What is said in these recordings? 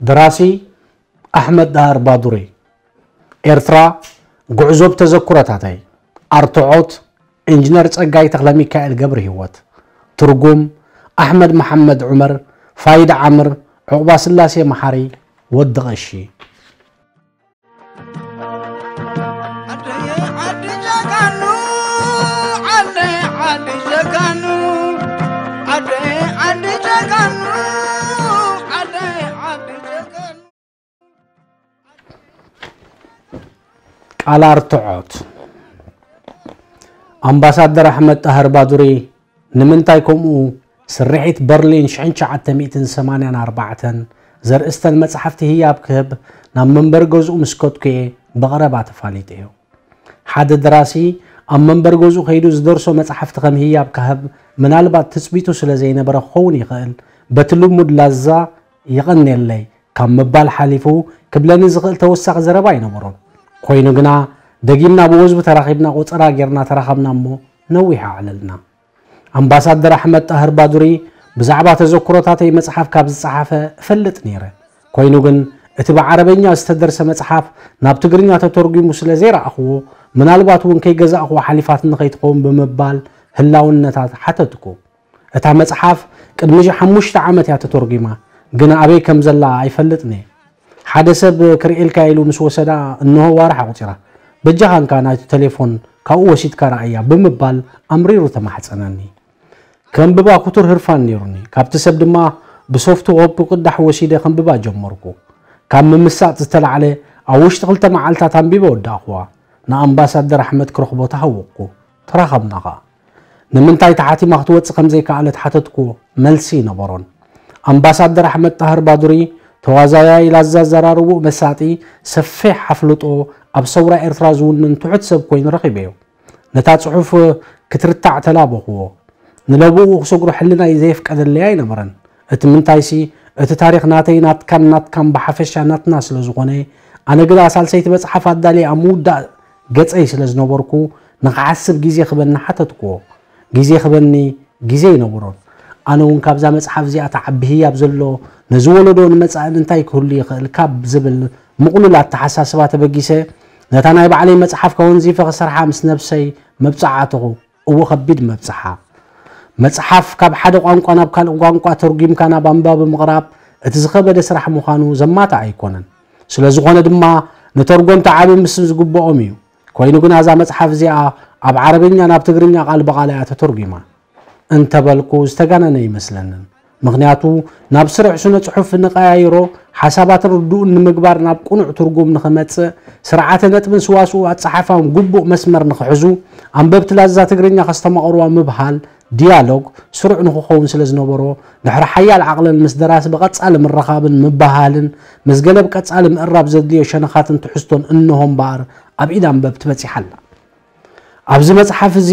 ደራሲ ኣሕመድ ዳህር ባዱሪ። ኤርትራ፣ ጉዕዞ ብተዘክሮታተይ። ኣርትዖት፣ ኢንጂነር ጸጋይ ተኽለሚካኤል ገብረሂወት። ትርጉም፣ ኣሕመድ መሓመድ ዑመር፣ ፋይድ ዓምር፣ ዑቕባስላሴ መሓሪ፣ ወዲ ቐሺ። ዓደይ ዓዲ ጀጋኑ፣ ዓደይ ዓዲ ጀጋኑ፣ ዓደይ ዓዲ ጀጋኑ፣ ዓደይ ዓዲ ጀጋኑ። ቃል ኣርትዖት። ኣምባሳደር ኣሕመድ ጣህር ባዱሪ ንምንታይ ከምኡ ስርሒት በርሊን ሽሕን ትሽዓተ ሚእትን ሰማንያን ኣርባዕተን ዘርእስተን መጽሓፍቲ ህያብ ክህብ ናብ መንበሪ ገዝኡ ምስ ከድኩ'የ ብቐረባ ተፋሊጠዮ። ሓደ ደራሲ ኣብ መንበሪ ገዝኡ ከይዱ ዝደርሶ መጽሓፍቲ ከም ህያብ ክህብ ምናልባት ትጽቢቱ ስለ ዘይነበረ ክኸውን ይኽእል፣ በቲ ልሙድ ላዛ የቐንየለይ ካብ ምባል ሓሊፉ ክብለኒ ዝኽእል ተወሳኺ ዘረባ ኣይነበሮን። ኮይኑ ግና ደጊምና ብወዝቢ ተራኺብና ቆጸራ ጌርና ተራኸብና እሞ ነዊሕ ኣዕለልና። ኣምባሳደር ኣሕመድ ጣህር ባዱሪ ብዛዕባ ተዘክሮታተይ መጽሓፍ ካብ ዝጸሓፈ እፈልጥ ነይረ። ኮይኑ ግን እቲ ብዓረበኛ ዝተደርሰ መጽሓፍ ናብ ትግርኛ ተተርጒሙ ስለ ዘይረኣኽዎ፣ ምናልባት እውን ከይገዛእኽዋ ሓሊፋትኒ ከይትኸውን ብምባል ህላውነታ ሓተትኩ። እታ መጽሓፍ ቅድሚ ዚ ሓሙሽተ ዓመት እያ ተተርጒማ፣ ግን ኣበይ ከም ዘላ ኣይፈልጥን እየ። ሓደ ሰብ ክርእየልካ ኢሉ ምስ ወሰዳ እንሆ ዋርሕ ኣቑጺራ። በጃኻ እንካ ናይቲ ቴሌፎን ካብኡ ወሲድካ ረኣያ ብምባል ኣምሪሩ ተማሕጸነኒ። ከንብባ ክቱር ህርፋን ነይሩኒ። ካብቲ ሰብ ድማ ብሶፍት ኮፒ ቅዳሕ ወሲደ ከንብባ ጀመርኩ። ካብ ምምሳጥ ዝተላዕለ ኣብ ውሽጢ ክልተ መዓልታት ኣንቢበ ወዳእኽዋ። ንኣምባሳደር ኣሕመድ ክረኽቦ ተሃወቕኩ። ተራኸብና ኸኣ። ንምንታይ ተሓቲማ ክትወጽእ ከም ዘይከኣለት ሓተትኩዎ። መልሲ ኣይነበሮን። ኣምባሳደር ኣሕመድ ጣህር ባዱሪ ተዋዛያይ ላዛ ኣዘራርብኡ መሳጢ፣ ሰፊሕ ኣፍልጦ ኣብ ሰውራ ኤርትራ ዝውንን ትሑት ሰብ ኮይኑ ረኺበዮ። ነታ ጽሑፍ ክትርታዕ ተላበኽዎ። ንለብኡ ክሰግሮ ሕልናይ ዘየፍቀደለይ ኣይነበረን። እቲ ምንታይሲ፣ እቲ ታሪኽ ናተይ፣ ናትካን ናትካን ብሓፈሻ ናትና ስለ ዝኾነ፣ ኣነ ግዳ ሳልሰይቲ መጽሓፍ ኣዳልየ ኣብ ምውዳእ ገጸይ ስለ ዝነበርኩ፣ ንኽሓስብ ግዜ ክበኒ ሓተትክዎ። ግዜ ክበኒ ግዜ ኣይነበሮን። ኣነ እውን ካብዛ መጽሓፍ እዚኣ ትዓቢ ህያብ ዘሎ፣ ነዚ ወለዶ ንመጻእን እንታይ ክህሉ ይኽእል ካብ ዝብል ምቕሉል ኣተሓሳስባ ተበጊሰ፣ ነታ ናይ ባዕለይ መጽሓፍ ከወንዚፈ ክሰርሓ ምስ ነብሰይ መብጽዓ ኣተኹ። እወ፣ ከቢድ መብጽዓ። መጽሓፍ ካብ ሓደ ቋንቋ ናብ ካልእ ቋንቋ ተርጒምካ ናብ ኣንባቢ ምቕራብ እቲ ዝኸበደ ስራሕ ምዃኑ ዘማትእ ኣይኮነን። ስለ ዝኾነ ድማ ንተርጎምቲ ዓቢ ምስ ዝግብኦም እዩ። ኮይኑ ግና እዛ መጽሓፍ እዚኣ ኣብ ዓረብኛ ናብ ትግርኛ ቃል ብቓል እያ ተተርጒማ። እንተበልኩ ዝተጋነነ ኣይመስለንን። ምኽንያቱ ናብ ስሩዕ ስነ ጽሑፍ ንቐያይሮ፣ ሓሳባትን ርዱእን ንምግባር ናብ ቅኑዕ ትርጉም ንኽመጽእ፣ ስርዓተ ነጥብን ስዋስው ኣጸሓሕፋን ግቡእ መስመር ንኽሕዙ፣ ኣንበብቲ ላዛ ትግርኛ ከስተማቕርዋ ምብሃል፣ ዲያሎግ፣ ስሩዕ ንኽኸውን ስለ ዝነበሮ፣ ድሕሪ ሓያል ዓቕልን ምስ ደራሲ ብቐጻሊ ምርኻብን ምብህሃልን፣ ምስ ገለ ብቀጻሊ ምእራብ ዘድልዮ ሸነኻትን ትሕዝቶን እንሆ እምበኣር ኣብ ኢድ ኣንበብቲ በጺሓ ኣላ። ኣብዚ መጽሓፍ እዚ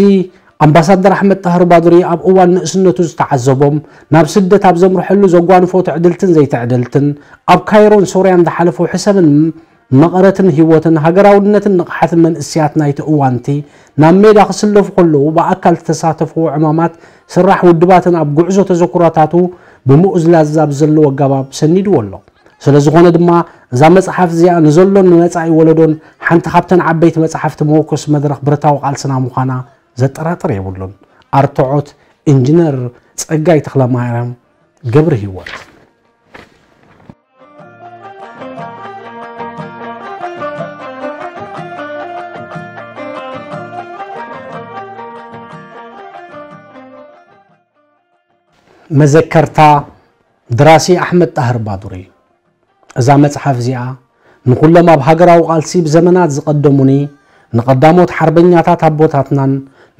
ኣምባሳደር ኣሕመድ ጣህር ባዱሪ ኣብ እዋን ንእስነቱ ዝተዓዘቦም፣ ናብ ስደት ኣብ ዘምርሐሉ ዘጓንፎ ትዕድልትን ዘይትዕድልትን፣ ኣብ ካይሮን ሶርያን ዝሓለፎ ሕሰምን መቐረትን ህይወትን ሃገራውነትን ንቕሓትን መንእሰያት ናይቲ እዋንቲ፣ ናብ ሜዳ ክስለፉ ከለዉ ብኣካል ዝተሳተፍዎ ዕማማት ስራሕ ውድባትን ኣብ ጉዕዞ ተዘክሮታቱ ብምኡዝ ላዛ ብዘለዎ ኣገባብ ሰኒድዎ ኣሎ። ስለ ዝኾነ ድማ እዛ መጽሓፍ እዚኣ ንዘሎን ንመጻኢ ወለዶን ሓንቲ ካብተን ዓበይቲ መጽሓፍቲ መወከሲ መድረኽ ብረታዊ ቃልስና ምዃና ዘጠራጥር የብሉን። ኣርትዖት ኢንጂነር ጸጋይ ተኽለማርያም ገብረሂወት። መዘከርታ ደራሲ ኣሕመድ ጣህር ባዱሪ። እዛ መጽሓፍ እዚኣ ንኹሎም ኣብ ሃገራዊ ቃልሲ ብዘመናት ዝቐደሙኒ፣ ንቐዳሞት ሓርበኛታት ኣቦታትናን፣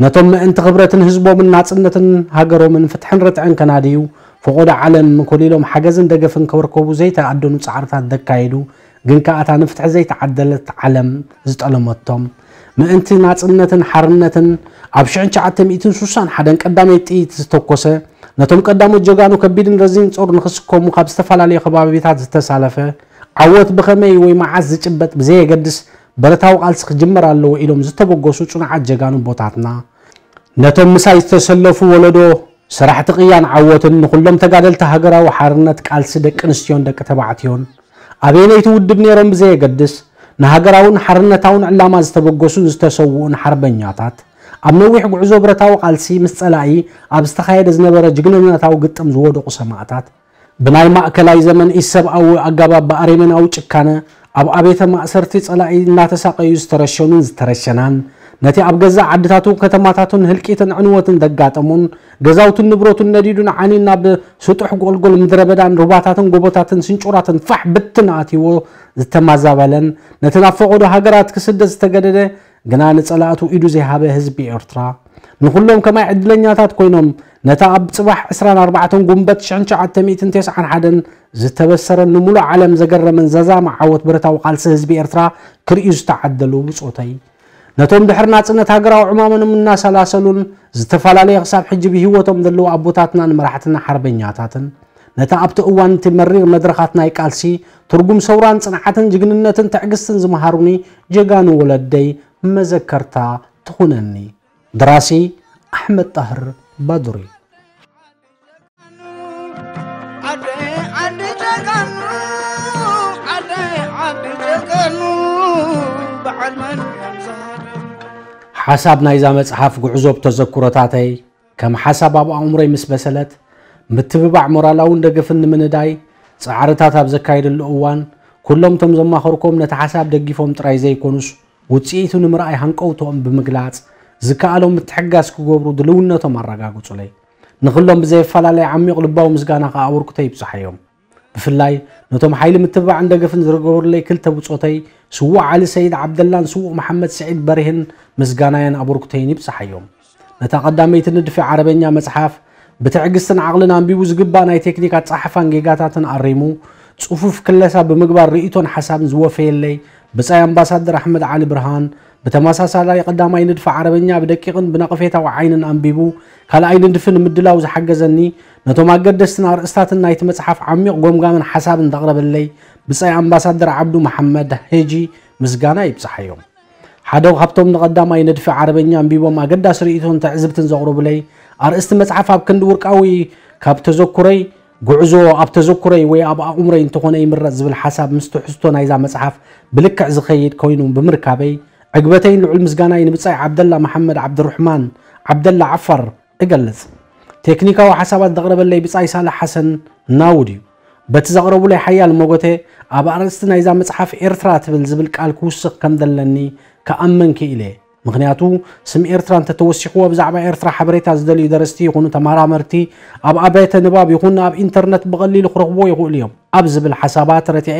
ነቶም ምእንቲ ክብረትን ህዝቦምን ናጽነትን ሃገሮምን ፍትሕን ርትዕን ከናድዩ፣ ፈቖዶ ዓለም ኮሊሎም ሓገዝን ደገፍን ከበርከቡ ዘይተኣደኑ ጻዕርታት ዘካየዱ፣ ግን ከኣ እታ ንፍትሒ ዘይተዓደለት ዓለም ዝጠለመቶም፣ ምእንቲ ናጽነትን ሓርነትን ኣብ ሽሕን ትሽዓተ ሚእትን ስሳን ሓደን ቀዳመይቲ ጥይት ዝተኮሰ፣ ነቶም ቀዳሞት ጀጋኑ ከቢድን ረዚን ጾር ንኽስከሙ ካብ ዝተፈላለዩ ከባቢታት ዝተሳለፈ፣ ዓወት ብኸመይ ወይ መዓስ ዝጭበጥ ብዘየገድስ፣ ብረታዊ ቃልሲ ክጅመር ኣለዎ ኢሎም ዝተበገሱ ጽኑዓት ጀጋኑ ኣቦታትና፣ ነቶም ምሳይ ዝተሰለፉ ወለዶ ሰራሕቲ ቅያን ዓወትን ንኹሎም ተጋደልቲ ሃገራዊ ሓርነት ቃልሲ ደቂ ኣንስትዮን ደቂ ተባዕትዮን፣ ኣበየነይቲ ውድብ ነይሮም ብዘየገድስ፣ ንሃገራውን ሓርነታውን ዕላማ ዝተበገሱን ዝተሰውኡን ሓርበኛታት፣ ኣብ ነዊሕ ጉዕዞ ብረታዊ ቃልሲ ምስ ጸላኢ ኣብ ዝተኻየደ ዝነበረ ጅግንነታዊ ግጥም ዝወደቑ ሰማእታት፣ ብናይ ማእከላይ ዘመን ኢሰብኣዊ ኣገባብ ብኣረሜናዊ ጭካነ ኣብ ኣብያተ ማእሰርቲ ጸላኢ እናተሳቐዩ ዝተረሸኑን ዝተረሸናን፣ ነቲ ኣብ ገዛእ ዓድታቱን ከተማታቱን ህልቂትን ዕንወትን ዘጋጠሞን፣ ገዛውቱን ንብረቱን ነዲዱን ዓንዩን ናብ ስጡሕ ጎልጎል ምድረ በዳን ሩባታትን ጎቦታትን ስንጩራትን ፋሕ ብትን ኣትይዎ ዝተማዛበለን፣ ነቲ ናብ ፈቐዶ ሃገራት ክስደድ ዝተገደደ፣ ግና ንጸላእቱ ኢዱ ዘይሃበ ህዝቢ ኤርትራ፣ ንኹሎም ከማይ ዕድለኛታት ኮይኖም፣ ነታ ኣብ ጽባሕ ዕስራን ኣርባዕተን ጉንበት ሽሕን ትሽዓተ ሚእትን ተስዓን ሓደን ዝተበሰረን ንምሉእ ዓለም ዘገረመን ዘዛሚ ዓወት ብረታዊ ቃልሲ ህዝቢ ኤርትራ ክርእዩ ዝተዓደሉ ብጾተይ፣ ነቶም ድሕሪ ናጽነት ሃገራዊ ዕማሞም እናሰላሰሉን ዝተፈላለየ ክሳብ ሕጂ ብህይወቶም ዘለዉ ኣቦታትናን መራሕትና ሓርበኛታትን፣ ነታ ኣብቲ እዋን እቲ መሪር መድረኻት ናይ ቃልሲ ትርጉም ሰውራን ጽንዓትን ጅግንነትን ትዕግስትን ዝመሃሩኒ ጀጋኑ ወለደይ መዘከርታ ትኹነኒ። ደራሲ ኣሕመድ ጣህር ባዱሪ። ዓደይ ዓዲ ጀጋኑ፣ ዓደይ ዓዲ ጀጋኑ፣ በዓል መን ሓሳብ ናይዛ መጽሓፍ ጉዕዞ ብተዘክሮታተይ ከም ሓሳብ ኣብ ኣእምሮይ ምስ በሰለት፣ ምትብባዕ ሞራላውን ደገፍን ንምንዳይ ጻዕርታት ኣብ ዘካየደሉ እዋን፣ ኩሎም እቶም ዘማኸርኮም ነቲ ሓሳብ ደጊፎም ጥራይ ዘይኮኑስ፣ ውጽኢቱ ንምርኣይ ሃንቀውቶኦም ብምግላጽ፣ ዝከኣሎም ምትሕግጋዝ ክገብሩ ድልውነቶም ኣረጋግጹለይ። ንኹሎም ብዘየፈላለይ ዓሚቕ ልባዊ ምስጋና ከኣ ኣበርክቶ ይብጽሓዮም። ብፍላይ ነቶም ሓይሊ ምትብባዕን ደገፍን ዝገበሩለይ ክልተ ብጾተይ፣ ስዉእ ዓሊ ሰይድ ዓብደላን ስዉእ መሓመድ ስዒድ በርሄን ምስጋናየን ኣበርክቶይን ይብጽሓዮም። ነታ ቀዳመይቲ ንድፊ ዓረበኛ መጽሓፍ ብትዕግስትን ዓቕልን ኣንቢቡ ዝግባእ ናይ ቴክኒክ ኣጸሓሕፋን ጌጋታትን ኣሪሙ፣ ጽፉፍ ክለሳ ብምግባር ርእይቶን ሓሳብን ዝወፈየለይ ብጻይ ኣምባሳደር ኣሕመድ ዓሊ ብርሃን፣ ብተመሳሳላይ ቀዳማይ ንድፊ ዓረበኛ ብደቂቕን ብነቐፌታዊ ዓይንን ኣንቢቡ፣ ካልኣይ ንድፊ ንምድላው ዝሓገዘኒ፣ ነቶም ኣገደስትን ኣርእስታትን ናይቲ መጽሓፍ ዓሚቕ ጎምጋምን ሓሳብን ዘቕረበለይ ብጻይ ኣምባሳደር ዓብዱ መሓመድ ሄጂ ምስጋና ይብጽሓዮም። ሓደ ካብቶም ንቐዳማይ ንድፊ ዓረበኛ ኣንቢቦም ኣገዳሲ ርእይቶን ትዕዝብትን ዘቕረቡለይ፣ ኣርእስቲ መጽሓፍ ኣብ ክንዲ ውርቃዊ ካብ ተዘኩረይ፣ ጉዕዞ ኣብ ተዘኩረይ ወይ ኣብ ኣእምሮይ እንተኾነ ይምረጽ ዝብል ሓሳብ ምስ ትሕዝቶ ናይዛ መጽሓፍ ብልክዕ ዝኸይድ ኮይኑ ብምርካበይ፣ ዕግበተይን ልዑል ምስጋናይ ንብጻይ ዓብደላ መሓመድ ዓብድሩሕማን ዓብደላ ዓፋር እገልጽ። ቴክኒካዊ ሓሳባት ዘቕረበለይ ብጻይ ሳልሕ ሓሰን ናውድ እዩ። በቲ ዘቕረቡለይ ሓያል መጎተ፣ ኣብ ኣርእስቲ ናይዛ መጽሓፍ ኤርትራ ትብል ዝብል ቃል ክውስኽ ከም ዘለኒ ክኣምን ክኢለ። ምኽንያቱ፣ ስም ኤርትራ እንተተወሲኽዎ ብዛዕባ ኤርትራ ሓበሬታ ዝደልዩ ደረስቲ ይኹኑ ተመራመርቲ ኣብ ኣብያተ ንባብ ይኹን ኣብ ኢንተርነት ብቐሊሉ ክረኽብዎ ይኽእሉ እዮም ኣብ ዝብል ሓሳባት ረቲዐ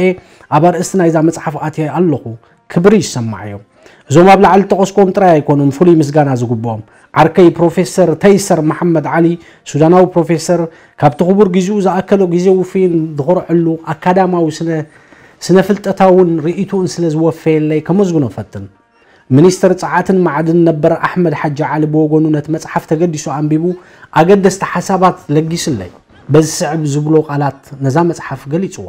ኣብ ኣርእስቲ ናይዛ መጽሓፍ ኣትየ ኣለኹ። ክብሪ ይሰማዓዮም። እዞም ኣብ ላዕሊ ዝጠቐስክዎም ጥራይ ኣይኮኑን ፍሉይ ምስጋና ዝግብኦም። ዓርከይ ፕሮፌሰር ተይሰር መሓመድ ዓሊ፣ ሱዳናዊ ፕሮፌሰር፣ ካብቲ ክቡር ግዜኡ ዝኣከሎ ግዜ ውፉይን ዝኾርዐሉ ኣካዳማዊ ስነ-፣ ስነ-ፍልጠታውን ርእይቶኡን ስለ ዝወፈየለይ ከመስግኖ እፈትን። ሚኒስተር ጸዓትን መዓድን ነበር ኣሕመድ ሓጂ ዓሊ ብወገኑ ነቲ መጽሓፍ ተገዲሱ ኣንቢቡ ኣገደስቲ ሓሳባት ለጊሱለይ። በዚ ስዕብ ዝብሎ ቃላት ነዛ መጽሓፍ ገሊጽዋ።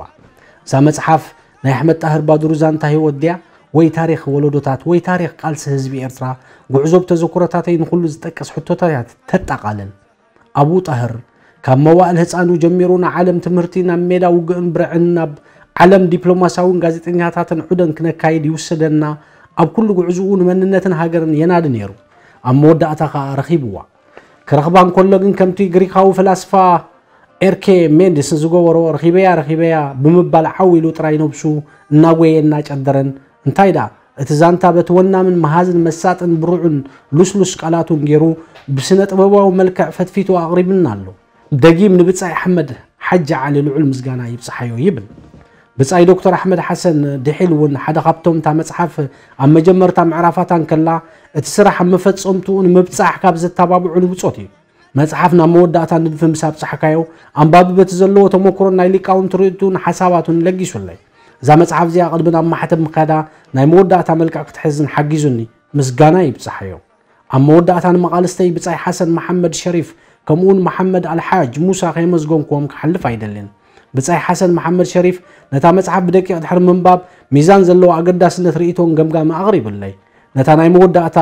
እዛ መጽሓፍ ናይ ኣሕመድ ጣህር ባድሩ ዛንታ ህይወት ድያ ወይ ታሪኽ ወለዶታት ወይ ታሪኽ ቃልሲ ህዝቢ ኤርትራ፣ ጉዕዞ ብተዘክሮታተይ ንኹሉ ዝጠቅስ ሕቶታት እያ ተጠቓልል። ኣብኡ ጣህር፣ ካብ መዋእል ህጻኑ ጀሚሩ ንዓለም ትምህርቲ፣ ናብ ሜዳ ውግእን ብርዕን፣ ናብ ዓለም ዲፕሎማሳውን ጋዜጠኛታትን ዑደን ክነካይድ ይውስደና፣ ኣብ ኩሉ ጉዕዝኡ ንመንነትን ሃገርን የናዲ ነይሩ። ኣብ መወዳእታ ከኣ ረኺብዋ። ክረኽባ እንከሎ ግን ከምቲ ግሪኻዊ ፈላስፋ ኤርኬ ሜንድስ ዝገበሮ፣ "ረኺበያ፣ ረኺበያ" ብምባል ዓው ኢሉ ጥራይ ነብሱ እናጎየ እናጨደረን፣ እንታይ ደኣ፣ እቲ ዛንታ በቲ ወናምን መሃዝን መሳጥን ብሩዕን ልስሉስ ቃላቱን ገይሩ ብስነ ጥበባዊ መልክዕ ፈትፊቱ ኣቕሪብና ኣሎ። ደጊም ንብጻይ ኣሕመድ ሓጂ ዓሊ ልዑል ምስጋና ይብጽሓዮ ይብል። ብጻይ ዶክተር ኣሕመድ ሓሰን ድሒል እውን ሓደ ካብቶም እታ መጽሓፍ ኣብ መጀመርታ ምዕራፋታ እንከላ እቲ ስራሕ ኣብ መፈጸምትኡ ንምብጻሕ ካብ ዘተባብዑ ንብጾት እዩ። መጽሓፍ ናብ መወዳእታ ንድፊ ምስ ኣብጻሕካዮ፣ ኣንባቢ በቲ ዘለዎ ተመክሮን ናይ ሊቃውንቲ ርእይቶኡን ሓሳባቱን ለጊሱለይ። እዛ መጽሓፍ እዚኣ ቅድሚ ናብ ማሕተም ምኻዳ ናይ መወዳእታ መልክዕ ክትሕዝን ሓጊዙኒ፣ ምስጋና ይብጽሓዮ። ኣብ መወዳእታ ንመቓልስተይ ብጻይ ሓሰን መሓመድ ሸሪፍ ከምኡውን መሓመድ ኣልሓጅ ሙሳ ከየመስገንክዎም ክሓልፍ ኣይደልን። ብጻይ ሓሰን መሓመድ ሸሪፍ ነታ መጽሓፍ ብደቂቕ ድሕሪ ምንባብ ሚዛን ዘለዎ ኣገዳስነት ርእይቶን ገምጋምን ኣቕሪብለይ። ነታ ናይ መወዳእታ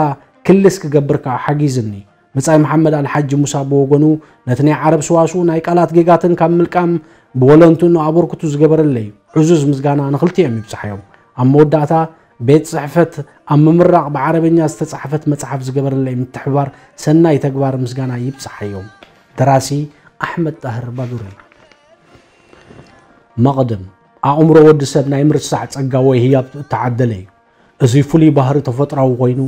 ክልስ ክገብር ከኣ ሓጊዝኒ። ብጻይ መሓመድ ኣልሓጂ ሙሳ ብወገኑ ነቲ ናይ ዓረብ ሰዋስው ናይ ቃላት ጌጋትን ካብ ምልቃም ብወለንትኡ ኣበርክቱ ዝገበረለይ እዩ። ዕዙዝ ምስጋና ንኽልቲኦም ይብጽሓዮም። ኣብ መወዳእታ ቤት ጽሕፈት ኣብ ምምራቕ ብዓረበኛ ዝተጻሕፈት መጽሓፍ ዝገበረለይ ምትሕብባር ሰናይ ተግባር ምስጋና ይብጽሓዮም። ደራሲ ኣሕመድ ጣህር ባዱሪ። መቕድም፣ ኣእምሮ ወዲ ሰብ ናይ ምርሳዕ ጸጋ ወይ ህያብ እተዓደለ እዩ። እዚ ፍሉይ ባህሪ ተፈጥራዊ ኮይኑ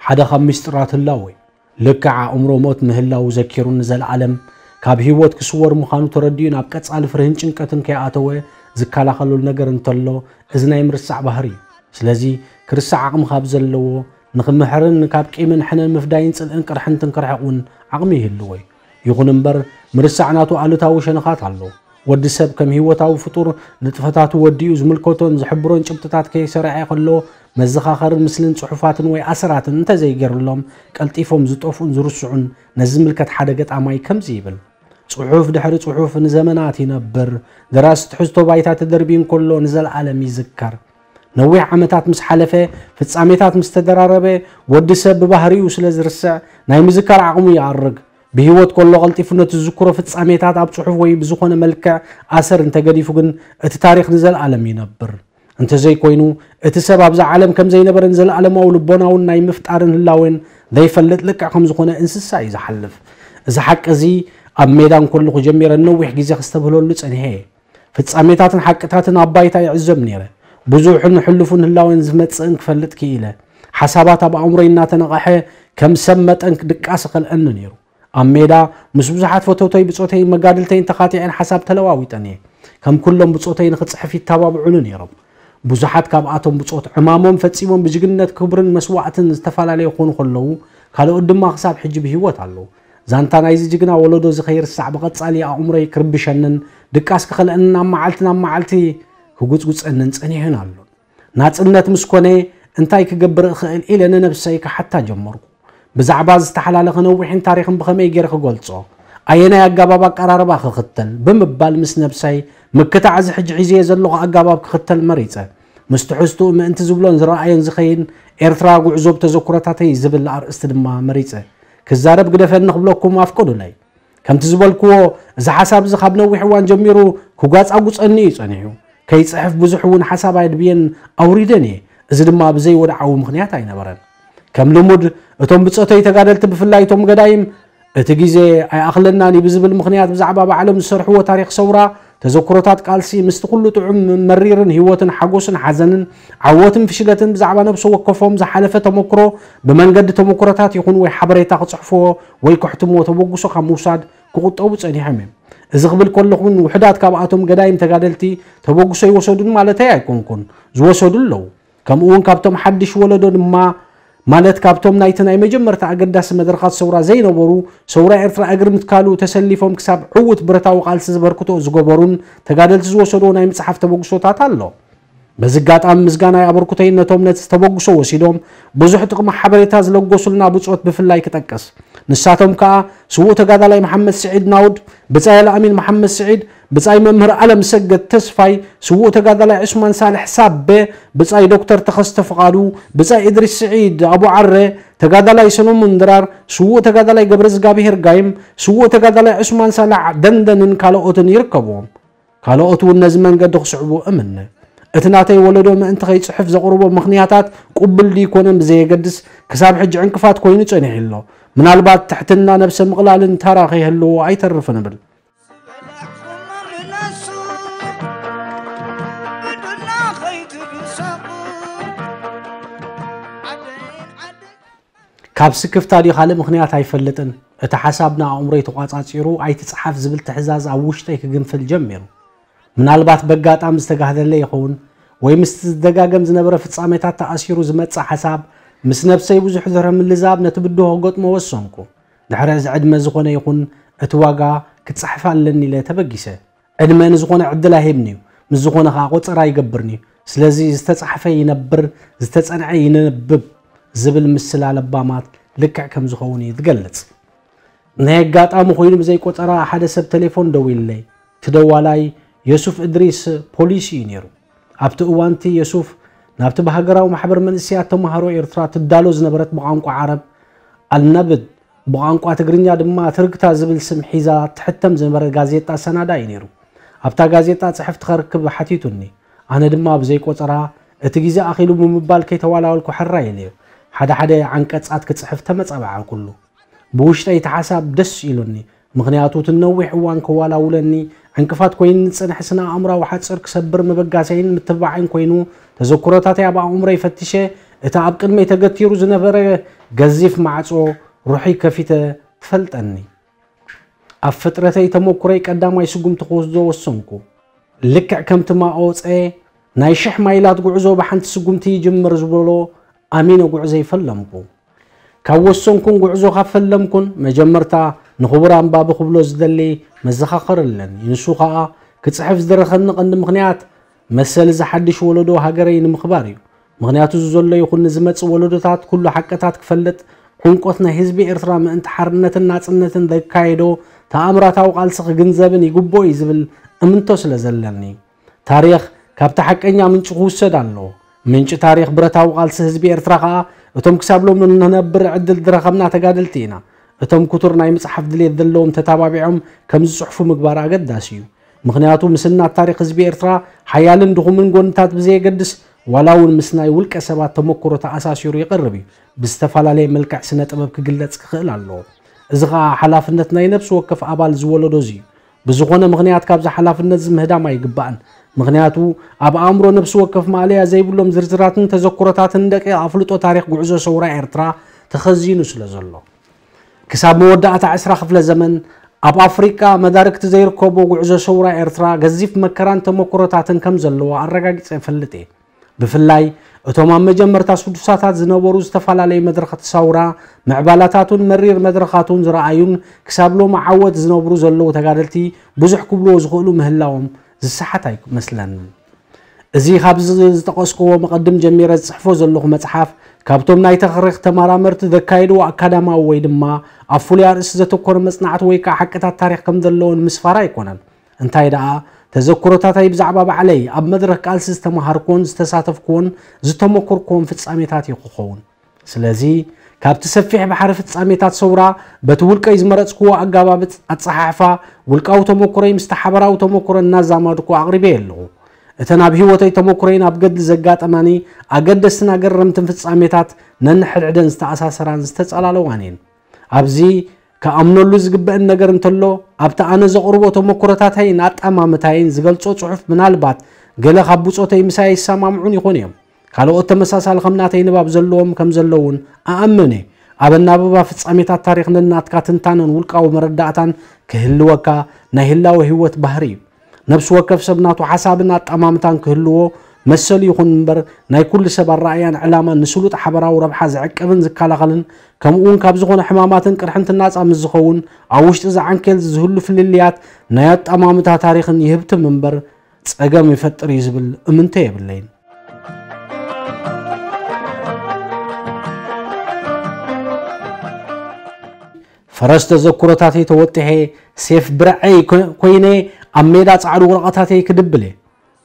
ሓደ ካብ ምስጢራት ህላወ እዩ። ልክዕ ኣእምሮ ሞት ምህላው ዘኪሩ ንዘለኣለም ካብ ህይወት ክስወር ምዃኑ ተረዲኡ ናብ ቀጻሊ ፍርህን ጭንቀትን ከይኣተወ ዝከላኸለሉ ነገር እንተሎ እዚ ናይ ምርሳዕ ባህሪ እዩ። ስለዚ ክርስዕ ዓቕሚ ካብ ዘለዎ ንኽምሕርን ካብ ቂምን ሕነን ምፍዳይን ጽልእን ቅርሕንትን ክርሕቕ እውን ዓቕሚ ይህልዎ እዩ። ይኹን እምበር ምርሳዕ ናቱ ኣሉታዊ ሸነኻት ኣለዎ። ወዲ ሰብ ከም ህይወታዊ ፍጡር ንጥፈታቱ ወዲኡ ዝምልከቶን ዝሕብሮን ጭብጥታት ከይሰርዐ ከሎ መዘኻኸርን ምስልን ጽሑፋትን ወይ ኣሰራትን እንተዘይገይሩሎም ቀልጢፎም ዝጠፍኡን ዝርስዑን ነዚ ዝምልከት ሓደ ገጣማይ ከምዚ ይብል። ጽሑፍ ድሕሪ ጽሑፍ ንዘመናት ይነብር። ደራሲ ትሕዝቶ ባይታ ተደርብዩ እንከሎ ንዘለኣለም ይዝከር። ነዊሕ ዓመታት ምስ ሓለፈ ፍጻሜታት ምስ ተደራረበ ወዲ ሰብ ብባህሪኡ ስለ ዝርስዕ ናይ ምዝካር ዓቕሙ ይኣርግ። ብህይወት ከሎ ቀልጢፉ ነቲ ዝዝክሮ ፍጻሜታት ኣብ ጽሑፍ ወይ ብዝኾነ መልክዕ ኣሰር እንተገዲፉ ግን እቲ ታሪኽ ንዘለኣለም ይነብር። እንተዘይኮይኑ እቲ ሰብ ኣብዛ ዓለም ከም ዘይነበረን ዘለኣለማዊ ልቦናውን ናይ ምፍጣርን ህላዌን ዘይፈልጥ ልክዕ ከም ዝኾነ እንስሳ እዩ ዝሓልፍ። እዚ ሓቂ እዚ ኣብ ሜዳ እንከለኹ ጀሚረ ነዊሕ ግዜ ክስተብህለሉ ጸኒሐ እየ። ፍጻሜታትን ሓቅታትን ኣብ ባይታ ይዕዘብ ነይረ። ብዙሕን ሕሉፍን ህላዌን ዝመጽእን ክፈልጥ ክኢለ። ሓሳባት ኣብ ኣእምሮይ እናተነቕሐ ከም ሰብ መጠን ድቃስ ይኸልአኒ ነይሩ። ኣብ ሜዳ ምስ ብዙሓት ፈተውተይ ብጾተይን መጋድልተይን ተኻቲዐን ሓሳብ ተለዋዊጠን እየ። ከም ኩሎም ብጾተይ ንኽጽሕፍ ይተባብዑኒ ነይሮም። ብዙሓት ካብኣቶም ብጾት ዕማሞም ፈጺሞም ብጅግንነት ክብርን መስዋእትን ዝተፈላለዩ ክኾኑ ከለዉ ካልኦት ድማ ክሳብ ሕጂ ብህይወት ኣለዉ። ዛንታ ናይዚ ጅግና ወለዶ እዚ ከይርሳዕ ብቐጻሊ ኣእምሮይ ክርብሸንን ድቃስ ክኸልአንን ኣብ መዓልቲ ናብ መዓልቲ ክጉጽጉጸንን ጸኒሑን ኣሎን። ናጽነት ምስ ኮነ እንታይ ክገብር እኽእል ኢለ ንነብሰይ ክሓታ ጀመርኩ። ብዛዕባ ዝተሓላለኸ ነዊሕን ታሪኽን ብኸመይ ገይረ ክገልጾ? ኣየናይ ኣገባብ ኣቀራርባ ክኽተል? ብምባል ምስ ነብሰይ ምክታዕ እዚ ሕጂ ሒዘዮ ዘለኹ ኣገባብ ክኽተል መሪጸ። ምስ ትሕዝትኡ ምእንቲ ዝብሎን ዝረኣዮን ዝኸይን ኤርትራ ጉዕዞ ብተዘክሮታተይ ዝብል ኣርእስቲ ድማ መሪጸ። ክዛረብ ግደፈኒ ክብለኩም ኣፍቀዱለይ። ከምቲ ዝበልክዎ እዚ ሓሳብ እዚ ካብ ነዊሕ እዋን ጀሚሩ ክጓጻጉጸኒ እዩ ጸኒሑ። ከይጽሕፍ ብዙሕ እውን ሓሳብ ኣድብየን ኣውሪደን እየ። እዚ ድማ ብዘይ ወድዓዊ ምኽንያት ኣይነበረን። ከም ልሙድ እቶም ብጾተይ ተጋደልቲ ብፍላይ እቶም ገዳይም እቲ ግዜ ኣይኣኽለናን እዩ ብዝብል ምኽንያት ብዛዕባ ባዕሎም ዝሰርሕዎ ታሪኽ ሰውራ፣ ተዘክሮታት ቃልሲ ምስቲ ኩሉ ጥዑም መሪርን ህይወትን ሓጎስን ሓዘንን ዓወትን ፍሽለትን ብዛዕባ ነብሲ ወከፎም ዝሓለፈ ተመክሮ ብመንገዲ ተመክሮታት ይኹን ወይ ሓበሬታ ክጽሕፍዎ ወይ ከሕትምዎ ተበግሶ ካብ ምውሳድ ክቑጠቡ ጸኒሖም እዮም። እዚ ክብል ከለኹ እውን ውሑዳት ካብኣቶም ገዳይም ተጋደልቲ ተበግሶ ይወሰዱን ማለተይ ኣይኮንኩን፣ ዝወሰዱ ኣለዉ። ከምኡ እውን ካብቶም ሓድሽ ወለዶ ድማ ማለት ካብቶም ናይቲ ናይ መጀመርታ ኣገዳሲ መድረኻት ሰውራ ዘይነበሩ፣ ሰውራ ኤርትራ እግሪ ምትካሉ ተሰሊፎም ክሳብ ዕዉት ብረታዊ ቃልሲ ዝበርክቶ ዝገበሩን ተጋደልቲ ዝወሰድዎ ናይ ምጽሓፍ ተበግሶታት ኣሎ። በዚ ኣጋጣሚ ምስጋናይ ኣበርክቶይን ነቶም ነቲ ተበግሶ ወሲዶም ብዙሕ ጥቕሚ ሓበሬታ ዝለገሱልና ብጾት ብፍላይ ክጠቅስ። ንሳቶም ከኣ ስዉእ ተጋዳላይ መሓመድ ስዒድ ናውድ፣ ብጻይ ኣልኣሚን መሓመድ ስዒድ፣ ብጻይ መምህር ኣለምሰገድ ተስፋይ፣ ስዉእ ተጋዳላይ ዑስማን ሳልሕ ሳበ፣ ብጻይ ዶክተር ተኸስተ ፍቓዱ፣ ብጻይ እድሪስ ስዒድ ኣቡዓረ፣ ተጋዳላይ ሰሎሞን ድራር፣ ስዉእ ተጋዳላይ ገብረዝጋብሄር ጋይም፣ ስዉእ ተጋዳላይ ዑስማን ሳልሕ ደንደንን ካልኦትን ይርከብዎም። ካልኦት እውን ነዚ መንገዲ ክስዕቡ እምነ። እቲ ናተይ ወለዶ ምእንቲ ከይጽሕፍ ዘቕርቦ ምኽንያታት ቅቡል ድዩ ኮነ ብዘየገድስ ክሳብ ሕጂ ዕንቅፋት ኮይኑ ጸኒሑ ኣሎ። ምናልባት ትሕትና ነብሰ ምቕላልን ተራ ከይህልዎ ኣይተርፍን እብል። ካብ ስክፍታ ድዩ ካልእ ምኽንያት ኣይፈልጥን፣ እቲ ሓሳብ ንኣእምሮይ ተቋጻጺሩ ኣይትጽሓፍ ዝብል ትሕዛዝ ኣብ ውሽጠይ ክግንፍል ጀሚሩ። ምናልባት በጋጣሚ ዝተጋህደለ ይኸውን ወይ ምስቲ ዝደጋገም ዝነበረ ፍጻሜታት ተኣሲሩ ዝመጽእ ሓሳብ ምስ ነብሰይ ብዙሕ ድሕሪ ምልዛብ ነቲ ብድሆ ክገጥሞ ወሰንኩ። ድሕሪ እዚ ዕድመ ዝኾነ ይኹን እቲ ዋጋ ክጻሕፍ ኣለኒ ኢለ ተበጊሰ። ዕድመ ንዝኾነ ዕድል ኣይህብን እዩ፣ ምስ ዝኾነ ኸኣ ቆጸራ ኣይገብርን እዩ። ስለዚ ዝተጻሕፈ ይነብር፣ ዝተጸንዐ ይነብብ ዝብል ምስላ ለባማት ልክዕ ከም ዝኸውን እዩ ዝገልጽ። ናይ ኣጋጣሚ ኮይኑ ብዘይ ቆጸራ ሓደ ሰብ ቴሌፎን ደዊልለይ። እቲ ደዋላይ የሱፍ እድሪስ ፖሊስ እዩ ነይሩ። ኣብቲ እዋንቲ የሱፍ ናብቲ ብሃገራዊ ማሕበር መንእሰያት ተማሃሮ ኤርትራ ትዳሎ ዝነበረት ብቋንቋ ዓረብ ኣልነብድ ብቋንቋ ትግርኛ ድማ ትርግታ ዝብል ስም ሒዛ ትሕተም ዝነበረ ጋዜጣ ሰናዳ እዩ ነይሩ። ኣብታ ጋዜጣ ጽሕፍቲ ከርክብ ሓቲቱኒ። ኣነ ድማ ብዘይ ቆጸራ እቲ ግዜ ኣኺሉ ብምባል ከይተዋላወልኩ ሕራይ ኢለዮ። ሓደ ሓደ ዓንቀጻት ክጽሕፍ ተመጻባዕኩሉ። ብውሽጠይ እቲ ሓሳብ ደስ ኢሉኒ። ምኽንያቱ እቲ ነዊሕ እዋን ከዋላውለኒ ዕንቅፋት ኮይኑ ዝጸንሐ ስነ ኣእምራዊ ሓጽር ክሰብር መበጋሰይን ምትብባዕን ኮይኑ፣ ተዘክሮታተይ ኣብ ኣእምሮይ ፈቲሸ፣ እቲ ኣብ ቅድመይ ተገቲሩ ዝነበረ ገዚፍ ማዕጾ ሩሕይ ከፊተ ትፈልጠኒ። ኣብ ፍጥረተይ ተመኩረይ ቀዳማይ ስጉምቲ ክወስዶ ወሰንኩ። ልክዕ ከምቲ ማኦ ጸ ናይ ሽሕ ማይላት ጉዕዞ ብሓንቲ ስጉምቲ ይጅምር ዝበሎ ኣሚነ ጉዕዞይ ፈለምኩ። ካብ ወሰንኩን ጉዕዞ ካብ ፈለምኩን መጀመርታ ንኽቡር ኣንባቢ ክብሎ ዝደሊ መዘኻኸሪ ኣለኒ። ንሱ ኸኣ ክጽሕፍ ዝደረኸኒ ቀንዲ ምኽንያት መሰል እዚ ሓድሽ ወለዶ ሃገረይ ንምኽባር እዩ። ምኽንያቱ እዚ ዘሎ ይኹን ንዝመጽእ ወለዶታት ኩሉ ሓቅታት ክፈልጥ፣ ዕንቆት ናይ ህዝቢ ኤርትራ ምእንቲ ሓርነትን ናጽነትን ዘካየዶ ተኣምራታዊ ቃልሲ ክግንዘብን ይግብኦ እዩ ዝብል እምንቶ ስለ ዘለኒ። ታሪኽ ካብቲ ሓቀኛ ምንጩ ክውሰድ ኣለዎ። ምንጪ ታሪኽ ብረታዊ ቃልሲ ህዝቢ ኤርትራ ከኣ እቶም ክሳብ ሎሚ ንነብር ዕድል ዝረኸብና ተጋደልቲ ኢና። እቶም ክቱር ናይ ምጽሓፍ ድሌት ዘለዎም ተታባቢዖም ከም ዝጽሕፉ ምግባር ኣገዳሲ እዩ። ምኽንያቱ ምስናድ ታሪኽ ህዝቢ ኤርትራ ሓያልን ድኹምን ጎንታት ብዘየገድስ ዋላ እውን ምስ ናይ ውልቀ ሰባት ተመክሮ ተኣሳሲሩ ይቐርብ እዩ። ብዝተፈላለየ መልክዕ ስነ ጥበብ ክግለጽ ክኽእል ኣለዎ። እዚ ኸኣ ሓላፍነት ናይ ነፍሲ ወከፍ ኣባል ዝወለዶ እዚ እዩ። ብዝኾነ ምኽንያት ካብዚ ሓላፍነት እዚ ምህዳም ኣይግባእን። ምኽንያቱ ኣብ ኣእምሮ ነፍሲ ወከፍ ማእለያ ዘይብሎም ዝርዝራትን ተዘክሮታትን ደቂቕ ኣፍልጦ ታሪኽ ጉዕዞ ሰውራ ኤርትራ ተኸዚኑ ስለ ዘሎ። ክሳብ መወዳእታ ዕስራ ክፍለ ዘመን ኣብ ኣፍሪቃ መዳርግቲ ዘይርከቦ ጉዕዞ ሰውራ ኤርትራ ገዚፍ መከራን ተመክሮታትን ከም ዘለዎ ኣረጋጊጸ እፈልጥ እየ። ብፍላይ እቶም ኣብ መጀመርታ ስዱሳታት ዝነበሩ ዝተፈላለዩ መድረኻት ሰውራ ምዕባላታቱን መሪር መድረኻቱን ዝረኣዩን ክሳብ ሎሚ ዓወት ዝነብሩ ዘለዉ ተጋደልቲ ብዙሕ ክብልዎ ዝኽእሉ ምህላዎም ዝሰሓት ኣይመስለንን። እዚ ካብዚ ዝጠቐስክዎ መቐድም ጀሚረ ዝጽሕፎ ዘለኹ መጽሓፍ ካብቶም ናይ ታሪኽ ተመራመርቲ ዘካየድዎ ኣካዳማዊ ወይ ድማ ኣብ ፍሉይ ኣርእስቲ ዘተኮረ መጽናዕቲ ወይ ከኣ ሓቅታት ታሪኽ ከም ዘለዎ ንምስፋር ኣይኮነን። እንታይ ደኣ፣ ተዘክሮታተይ ብዛዕባ ባዕለይ ኣብ መድረኽ ቃልሲ ዝተመሃርኩዎን ዝተሳተፍኩዎን ዝተመኮርኩዎን ፍጻሜታት እዩ ክኸውን። ስለዚ፣ ካብቲ ሰፊሕ ባሕሪ ፍጻሜታት ሰውራ በቲ ውልቀይ ዝመረጽክዎ ኣገባብ ኣጸሓሕፋ፣ ውልቃዊ ተመኩሮይ ምስቲ ሓበራዊ ተመኩሮ እናዛመድኩ ኣቕሪበዮ ኣለኹ። እተን ኣብ ህይወተይ ተመኩሮይን ኣብ ገድሊ ዘጋጠማኒ ኣገደስትን ኣገረምትን ፍጻሜታት ነንሕድሕደን ዝተኣሳሰራን ዝተጸላለዋን እየን። ኣብዚ ክኣምነሉ ዝግበእን ነገር እንተሎ፣ ኣብቲ ኣነ ዘቕርቦ ተመኩሮታተይን ኣጠማምታይን ዝገልጾ ጽሑፍ ምናልባት ገለ ካብ ብጾተይ ምሳይ ኣይሰማምዑን ይኾኑ እዮም። ካልኦት ተመሳሳሊ ከም ናተይ ንባብ ዘለዎም ከም ዘለዉ እውን እኣምን እየ። ኣብ ኣናብባ ፍጻሜታት ታሪኽ ነናትካ ትንታነን ውልቃዊ መረዳእታን ክህልወካ ናይ ህላወ ህይወት ባህሪ እዩ። ነፍሲ ወከፍ ሰብ ናቱ ሓሳብን ኣጠማምታን ክህልዎ መሰሉ ይኹን እምበር፣ ናይ ኩሉ ሰብ ኣረኣእያን ዕላማን ንስሉጥ ሓበራዊ ረብሓ ዝዕቅብን ዝከላኸልን፣ ከምኡ እውን ካብ ዝኾነ ሕማማትን ቅርሕንትን ናጻ ምስ ዝኸውን፣ ኣብ ውሽጢ እዚ ዓንኬል እዚ ዝህሉ ፍልልያት ናይ ኣጠማምታ ታሪኽን ይህብትም እምበር፣ ጸገም ይፈጥር እዩ ዝብል እምንቶ የብለይን። ፈረስ ተዘክሮታተይ ተወጢሐ፣ ሴፍ ብርዐይ ኮ-፣ ኮይነ፣ ኣብ ሜዳ ጻዕዱ ወረቐታተይ ክድብል እየ።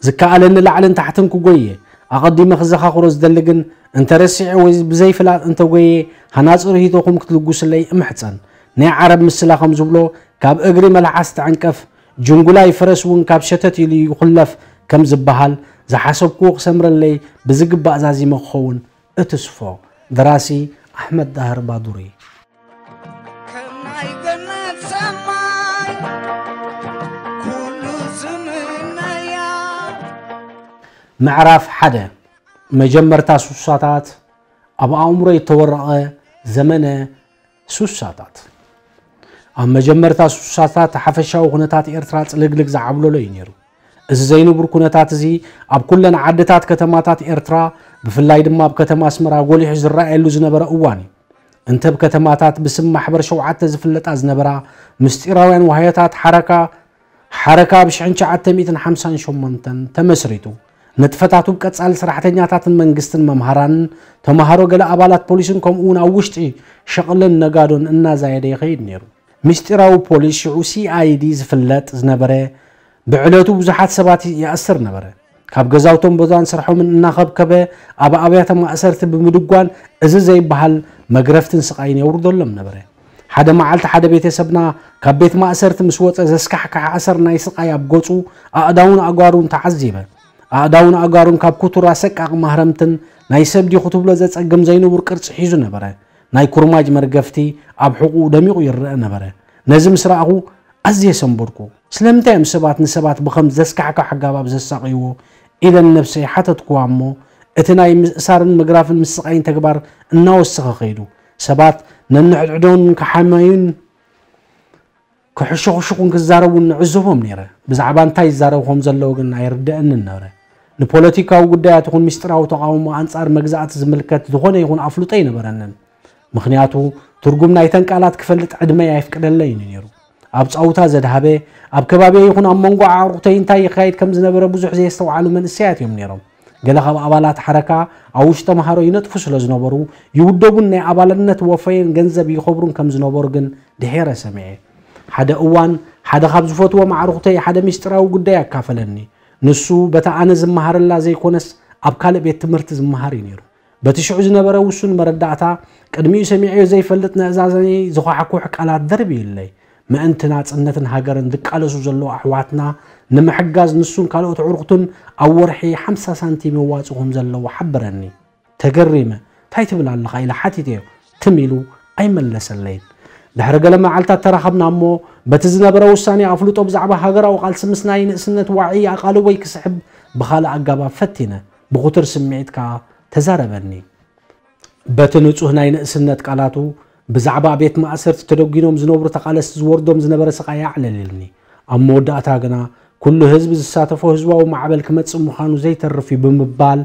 ዝከኣለኒ ላዕልን ታሕትን ክጎይ እየ። ኣቐዲመ ክዘኻኽሮ ዝደሊ ግን፣ እንተ ረሲዐ ወይ ብዘይፍላጥ እንተ ጎየ፣ ሃናጺ ርሂቶኹም ክትልግሱለይ እምሕጸን። ናይ ዓረብ ምስላ ከም ዝብሎ፣ ካብ እግሪ መልሓስ ትዕንቀፍ፣ ጅንጉላይ ፈረስ እውን ካብ ሸተት ኢሉ ይኹለፍ ከም ዝበሃል፣ ዝሓሰብክዎ ክሰምረለይ ብዝግባእ ዛዚመ ክኸውን እትስፎ። ደራሲ ኣሕመድ ዳህር ባዱሪ። ከም ናይ ገነት ሰማይ ኩሉ ዝምነያ። ምዕራፍ ሓደ። መጀመርታ ሱሳታት። ኣብ ኣእምሮ የተወረቐ ዘመነ ሱሳታት። ኣብ መጀመርታ ሱሳታት ሓፈሻዊ ኩነታት ኤርትራ ጽልግልግ ዝዓብለሎ እዩ ነይሩ። እዚ ዘይንቡር ኩነታት እዚ ኣብ ኩለን ዓድታት ከተማታት ኤርትራ፣ ብፍላይ ድማ ኣብ ከተማ ኣስመራ ጎሊሑ ዝረኣየሉ ዝነበረ እዋን እዩ። እንተ ኣብ ከተማታት ብስም ማሕበር ሸውዓተ ዝፍለጣ ዝነበራ ምስጢራውያን ዋህዮታት ሓረካ፣ ሓረካ ኣብ ሽሕን ትሽዓተ ሚእትን ሓምሳን ሸሞንተን ተመስሪቱ። ንጥፈታቱ ብቀጻሊ ሰራሕተኛታትን መንግስትን መምሃራንን ተምሃሮ ገለ ኣባላት ፖሊስን ከምኡ እውን ኣብ ውሽጢ ሸቕልን ነጋዶን እናዛየደ ይኸይድ ነይሩ። ምስጢራዊ ፖሊስ ሽዑ ሲ ኣይ ዲ ዝፍለጥ ዝነበረ ብዕለቱ ብዙሓት ሰባት ይኣስር ነበረ። ካብ ገዛውቶም ቦታን ስርሖምን እናኸብከበ ኣብ ኣብያተ ማእሰርቲ ብምድጓን እዚ ዘይበሃል መግረፍትን ስቓይን የውርደሎም ነበረ። ሓደ መዓልቲ ሓደ ቤተሰብና ካብ ቤት ማእሰርቲ ምስ ወጸ ዘስካሕክሕ ኣሰር ናይ ስቓይ ኣብ ገጹ ኣእዳውን ኣእጋሩን ተዓዚበ። ኣእዳውን ኣእጋሩን ካብ ኩቱር ኣሰቃቒ ማህረምትን ናይ ሰብ ድዩ ክትብሎ ዘጸግም ዘይንቡር ቅርጺ ሒዙ ነበረ። ናይ ኩርማጅ መርገፍቲ ኣብ ሕቑኡ ደሚቑ ይረአ ነበረ። ነዚ ምስ ረኣኹ ኣዝየ ሰንበድኩ። ስለምንታይ እዮም ሰባት ንሰባት ብኸም ዘስካሕክሕ ኣገባብ ዘሳቕይዎ? ኢለ ንነብሰይ ሓተትኩዋ እሞ፣ እቲ ናይ ምእሳርን ምግራፍን ምስቓይን ተግባር እናወሰኸ ከይዱ። ሰባት ነንሕድሕዶም ክሓመዩን ክሕሸኹሽኹን ክዛረቡን ንዕዘቦም ነይረ። ብዛዕባ እንታይ ይዛረቡ ከም ዘለዉ ግን ኣይርደአንን ነበረ። ንፖለቲካዊ ጉዳያት ይኹን ምስጢራዊ ተቓውሞ ኣንጻር መግዛእቲ ዝምልከት ዝኾነ ይኹን ኣፍልጦ ኣይነበረንን። ምኽንያቱ፣ ትርጉም ናይተን ቃላት ክፈልጥ ዕድመይ ኣይፍቅደለይን እዩ ነይሩ። ኣብ ጻውታ ዘድሃበ፣ ኣብ ከባቢየ ይኹን ኣብ መንጎ ኣዕሩኽተይ እንታይ ይካየድ ከም ዝነበረ ብዙሕ ዘየስተውዓሉ መንእሰያት እዮም ነይሮም። ገለ ካብ ኣባላት ሓረካ ኣብ ውሽጢ ተምሃሮ ይነጥፉ ስለ ዝነበሩ፣ ይውደቡን ናይ ኣባልነት ወፈየን ገንዘብ ይኸብሩን ከም ዝነበሩ ግን ድሒረ ሰሚዐ። ሓደ እዋን፣ ሓደ ካብ ዝፈትዎም ኣዕሩኽተይ ሓደ ምስጢራዊ ጉዳይ ኣካፈለኒ። ንሱ በታ ኣነ ዝመሃረላ ዘይኮነስ፣ ኣብ ካልእ ቤት ትምህርቲ ዝመሃር እዩ ነይሩ። በቲ ሽዑ ዝነበረ ውሱን መረዳእታ፣ ቅድሚኡ ሰሚዐዮ ዘይፈልጥ ነእዛዘይ ዝዃሕኩሕ ቃላት ደርብዩለይ። ምእንቲ ናጽነትን ሃገርን ዝቃለሱ ዘለዉ ኣሕዋትና ንምሕጋዝ ንሱን ካልኦት ኣዕሩኽቱን ኣብ ወርሒ ሓምሳ ሳንቲም የዋጽኡ ከም ዘለዉ ሓበረኒ። ተገሪመ፣ "እንታይ ትብል ኣለኻ?" ኢለ ሓቲተዮ። ትም ኢሉ ኣይመለሰለይን። ድሕሪ ገለ መዓልታት ተራኸብና እሞ፣ በቲ ዝነበረ ውሳኔ ኣፍልጦ ብዛዕባ ሃገራዊ ቃልሲ ምስ ናይ ንእስነት ዋዒ ኣቓልቦይ ክስሕብ ብኻልእ ኣገባብ ፈቲነ። ብኹቱር ስምዒት ከኣ ተዛረበኒ። በቲ ንጹህ ናይ ንእስነት ቃላቱ፣ ብዛዕባ ቤት ማእሰርቲ ተደጒኖም ዝነብሩ ተቓለስቲ ዝወርዶም ዝነበረ ስቓይ ኣዕለለልኒ። ኣብ መወዳእታ ግና፣ "ኩሉ ህዝቢ ዝሳተፎ ህዝባዊ ማዕበል ክመጽእ ምዃኑ ዘይተርፍ እዩ" ብምባል፣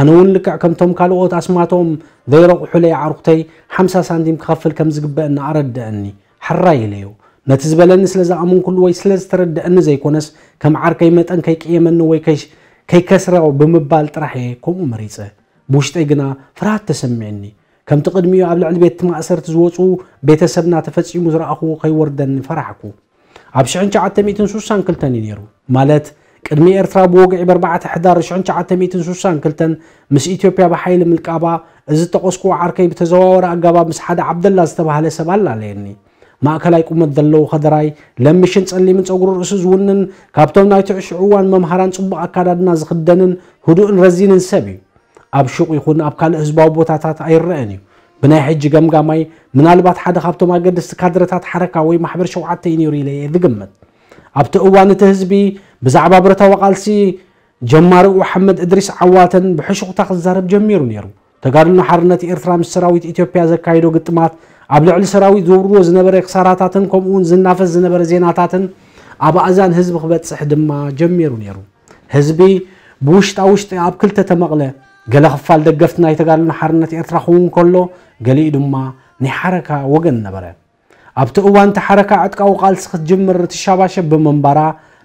ኣነ እውን ልክዕ ከምቶም ካልኦት ኣስማቶም ዘይረቑሑለይ ኣዕሩኽተይ ሓምሳ ሳንቲም ክኸፍል ከም ዝግበአኒ ኣረድአኒ። ሕራይ ኢለዮ። ነቲ ዝበለኒ ስለ ዝኣመንኩሉ ወይ ስለ ዝተረድአኒ ዘይኮነስ፣ ከም ዓርከይ መጠን ከይቅየመኒ ወይ ከይሽ-፣ ከይከስሮ ብምባል ጥራሕ እየ ከምኡ መሪጸ። ብውሽጠይ ግና ፍርሃት ተሰሚዕኒ። ከምቲ ቅድሚኡ ኣብ ልዕሊ ቤት ማእሰርቲ ዝወጹ ቤተሰብና ተፈጺሙ ዝረኣኹዎ ከይወርደኒ ፈራሕኩ። ኣብ ሽሕን ትሽዓተ ሚእትን ሱሳን ክልተን እዩ ነይሩ። ማለት፣ ቅድሚ ኤርትራ ብወግዒ ብ ኣርባዕተ ሕዳር ሽሕን ትሽዓተ ሚእትን ሱሳን ክልተን ምስ ኢትዮጵያ ብሓይሊ ምልቃባ፣ እዚ ዝጠቐስኩዎ ዓርከይ ብተዘዋዋሪ ኣገባብ ምስ ሓደ ዓብደላ ዝተባህለ ሰብ ኣላለየኒ። ማእከላይ ቁመት ዘለዎ ከደራይ፣ ለምሽን ጸሊምን ጸጉሪ ርእሱ ዝውንን፣ ካብቶም ናይቲ ሽዑ እዋን መምሃራን ጽቡቕ ኣካዳድና ዝኽደንን ህዱእን ረዚንን ሰብ እዩ። ኣብ ሹቕ ይኹን ኣብ ካልእ ህዝባዊ ቦታታት ኣይረኣን እዩ። ብናይ ሕጂ ገምጋማይ፣ ምናልባት ሓደ ካብቶም ኣገደስቲ ካድረታት ሓረካ ወይ ማሕበር ሸውዓተ እዩ ነይሩ ኢለ እየ ዝግምት። ኣብቲ እዋን እቲ ህዝቢ ብዛዕባ ብረታዊ ቃልሲ ጀማሪኡ ሓመድ እድሪስ ዓዋተን ብሕሹኽታ ክዛረብ ጀሚሩ ነይሩ። ተጋድሎ ሓርነት ኤርትራ ምስ ሰራዊት ኢትዮጵያ ዘካየዶ ግጥማት ኣብ ልዕሊ ሰራዊት ዘውርድዎ ዝነበረ ክሳራታትን ከምኡውን ዝናፈስ ዝነበረ ዜናታትን ኣብ ኣእዛን ህዝቢ ክበጽሕ ድማ ጀሚሩ ነይሩ። ህዝቢ ብውሽጣ ውሽጢ ኣብ ክልተ ተመቕለ። ገለ ክፋል ደገፍቲ ናይ ተጋድሎ ሓርነት ኤርትራ ክኸውን ከሎ፣ ገሊኡ ድማ ናይ ሓረካ ወገን ነበረ። ኣብቲ እዋን እቲ ሓረካ ዕጥቃዊ ቃልሲ ክትጅምር ትሻባሸብ ብምንባራ፣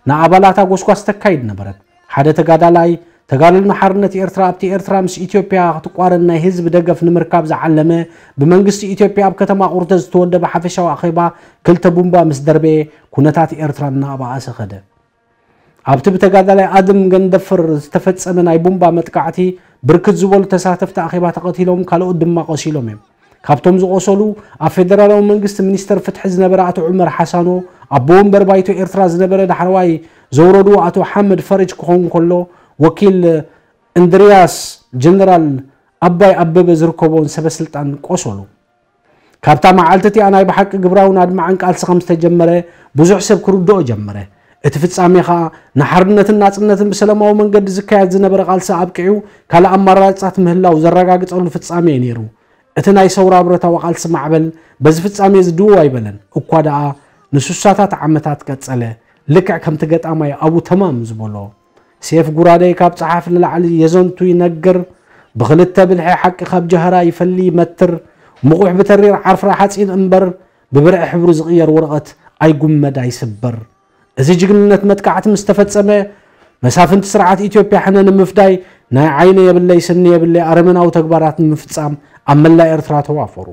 ንኣባላታ ጎስጓስ ተካይድ ነበረት። ሓደ ተጋዳላይ፣ ተጋድሎ ሓርነት ኤርትራ ኣብቲ ኤርትራ ምስ ኢትዮጵያ ክትቋረን ናይ ህዝቢ ደገፍ ንምርካብ ዝዓለመ፣ ብመንግስቲ ኢትዮጵያ ኣብ ከተማ ቁርተ ዝተወደበ ሓፈሻዊ ኣኼባ ክልተ ቡምባ ምስ ደርበየ፣ ኩነታት ኤርትራ እናኣባኣሰ ኸደ። ኣብቲ ብተጋዳላይ ኣድም ገንደፍር ዝተፈጸመ ናይ ቡምባ መጥቃዕቲ፣ ብርክት ዝበሉ ተሳተፍቲ ኣኼባ ተቐቲሎም፣ ካልኦት ድማ ቆሲሎም እዮም። ካብቶም ዝቖሰሉ፣ ኣብ ፌደራላዊ መንግስቲ ሚኒስተር ፍትሒ ዝነበረ ኣቶ ዑመር ሓሳኖ፣ ኣቦ ወንበር ባይቶ ኤርትራ ዝነበረ ዳሕረዋይ ዘውረድዎ ኣቶ ሓመድ ፈርጅ ክኸውን ከሎ፣ ወኪል እንድርያስ፣ ጀነራል ኣባይ ኣበበ ዝርከቦን ሰበ ስልጣን ቆሰሉ። ካብታ መዓልቲ እቲኣ ናይ ብሓቂ ግብራውን ኣድማዕን ቃልሲ ከም ዝተጀመረ ብዙሕ ሰብ ክርድኦ ጀመረ። እቲ ፍጻሜ ኸኣ ንሓርነትን ናጽነትን ብሰላማዊ መንገዲ ዝካየድ ዝነበረ ቃልሲ ኣብቂዑ ካልእ ኣማራጻት ምህላው ዘረጋግጸሉ ፍጻሜ እዩ ነይሩ። እቲ ናይ ሰውራ ብረታዊ ቃልሲ ማዕበል በዚ ፍጻሜ እዚ ድው ኣይበለን። እኳ ደኣ ንሱሳታት ዓመታት ቀጸለ። ልክዕ ከምቲ ገጣማይ ኣቡ ተማም ዝበሎ፣ "ሴፍ ጉራደይ ካብ ጸሓፍ ንላዕሊ የዘንቱ ይነግር፣ ብኽልተ ብልሒ ሓቂ ካብ ጀህራ ይፈሊ ይመትር፣ ምቑሕ ብተሪር ዓፍራ ሓጺን እምበር፣ ብብርዒ ሕብሩ ዝቕየር ወረቐት ኣይጉመድ ኣይስበር።" እዚ ጅግንነት መጥቃዕቲ ምስ ተፈጸመ፣ መሳፍንቲ ስርዓት ኢትዮጵያ ሕነ ንምፍዳይ ናይ ዓይኒ የብለይ ስኒ የብለይ ኣረመናዊ ተግባራት ንምፍጻም ኣብ መላእ ኤርትራ ተዋፈሩ።